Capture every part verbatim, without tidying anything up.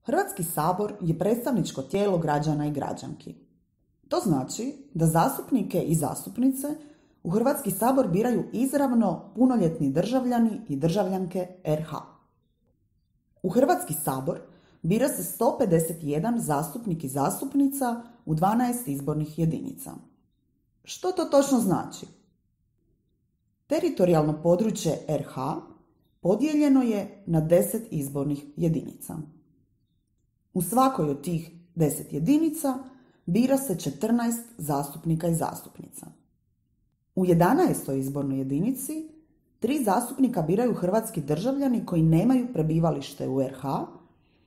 Hrvatski sabor je predstavničko tijelo građana i građanki. To znači da zastupnike i zastupnice u Hrvatski sabor biraju izravno punoljetni državljani i državljanke er ha. U Hrvatski sabor bira se sto pedeset jedan zastupnik i zastupnica u dvanaest izbornih jedinica. Što to točno znači? Teritorijalno područje er ha podijeljeno je na deset izbornih jedinica. U svakoj od tih deset jedinica bira se četrnaest zastupnika i zastupnica. U jedanaestoj izbornoj jedinici tri zastupnika biraju hrvatski državljani koji nemaju prebivalište u er ha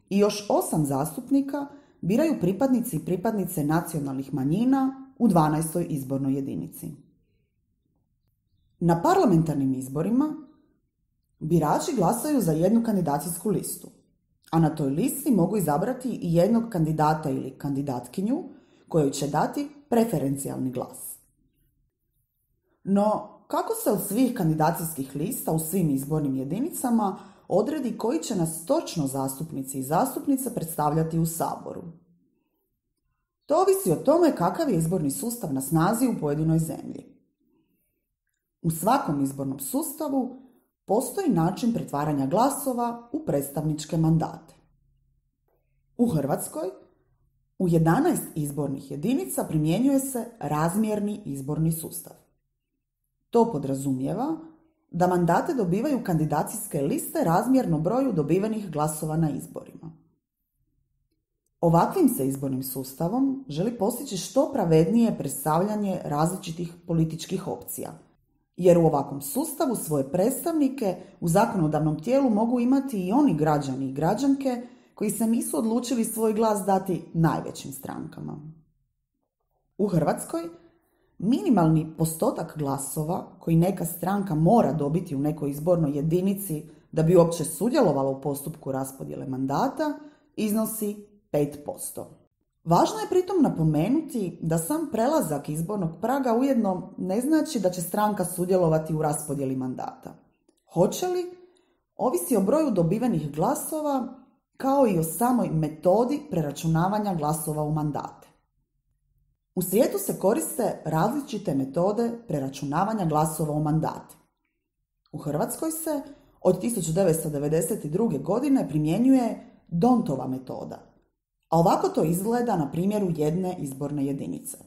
i još osam zastupnika biraju pripadnici i pripadnice nacionalnih manjina u dvanaestoj izbornoj jedinici. Na parlamentarnim izborima birači glasaju za jednu kandidacijsku listu, a na toj listi mogu izabrati i jednog kandidata ili kandidatkinju kojoj će dati preferencijalni glas. No, kako se od svih kandidacijskih lista u svim izbornim jedinicama odredi koji će nas točno zastupnici i zastupnice predstavljati u Saboru? To ovisi o tome kakav je izborni sustav na snazi u pojedinoj zemlji. U svakom izbornom sustavu postoji način pretvaranja glasova u predstavničke mandate. U Hrvatskoj u jedanaest izbornih jedinica primjenjuje se razmjerni izborni sustav. To podrazumijeva da mandate dobivaju kandidacijske liste razmjerno broju dobivenih glasova na izborima. Ovakvim se izbornim sustavom želi postići što pravednije predstavljanje različitih političkih opcija, jer u ovakvom sustavu svoje predstavnike u zakonodavnom tijelu mogu imati i oni građani i građanke koji se nisu odlučili svoj glas dati najvećim strankama. U Hrvatskoj minimalni postotak glasova koji neka stranka mora dobiti u nekoj izbornoj jedinici da bi uopće sudjelovala u postupku raspodjele mandata iznosi pet posto. Važno je pritom napomenuti da sam prelazak izbornog praga ujedno ne znači da će stranka sudjelovati u raspodjeli mandata. Hoće li, ovisi o broju dobivenih glasova kao i o samoj metodi preračunavanja glasova u mandate. U svijetu se koriste različite metode preračunavanja glasova u mandate. U Hrvatskoj se od tisuću devetsto devedeset druge. godine primjenjuje D'Hondtova metoda, a ovako to izgleda na primjeru jedne izborne jedinice.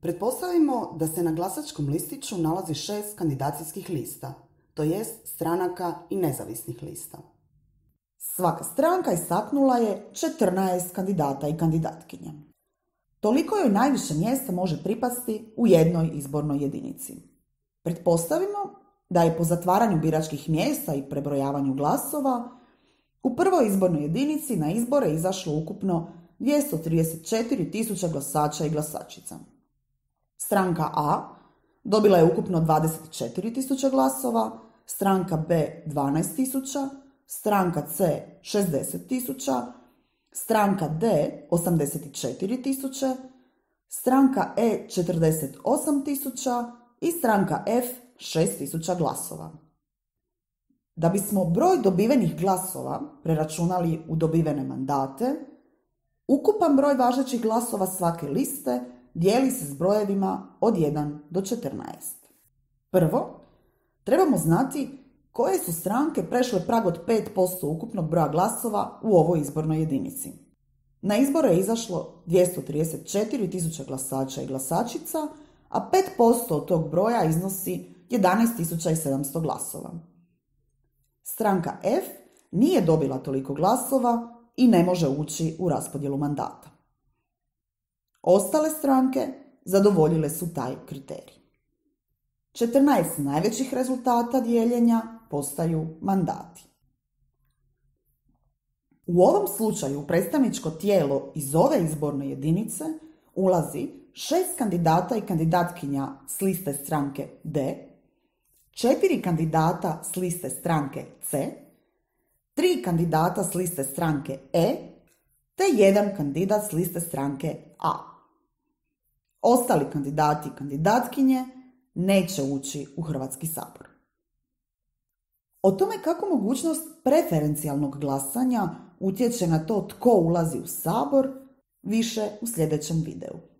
Pretpostavimo da se na glasačkom listiću nalazi šest kandidacijskih lista, to jest stranaka i nezavisnih lista. Svaka stranka istaknula je četrnaest kandidata i kandidatkinja. Toliko joj najviše mjesta može pripasti u jednoj izbornoj jedinici. Pretpostavimo da je po zatvaranju biračkih mjesta i prebrojavanju glasova u prvoj izbornoj jedinici na izbore izašlo ukupno dvjesto trideset četiri tisuće glasača i glasačica. Stranka A dobila je ukupno dvadeset četiri tisuće glasova, stranka B dvanaest tisuća, stranka C šezdeset tisuća, stranka D osamdeset četiri tisuće, stranka E četrdeset osam tisuća i stranka F šest tisuća glasova. Da bismo broj dobivenih glasova preračunali u dobivene mandate, ukupan broj važećih glasova svake liste dijeli se s brojevima od jedan do četrnaest. Prvo, trebamo znati koje su stranke prešle prag od pet posto ukupnog broja glasova u ovoj izbornoj jedinici. Na izbore je izašlo dvjesto trideset četiri tisuće glasača i glasačica, a pet posto od tog broja iznosi jedanaest tisuća sedamsto glasova. Stranka F nije dobila toliko glasova i ne može ući u raspodjelu mandata. Ostale stranke zadovoljile su taj kriterij. četrnaest najvećih rezultata dijeljenja postaju mandati. U ovom slučaju predstavničko tijelo iz ove izborne jedinice ulazi šest kandidata i kandidatkinja s liste stranke D, četiri kandidata s liste stranke C, tri kandidata s liste stranke E, te jedan kandidat s liste stranke A. Ostali kandidati i kandidatkinje neće ući u Hrvatski sabor. O tome kako mogućnost preferencijalnog glasanja utječe na to tko ulazi u Sabor, više u sljedećem videu.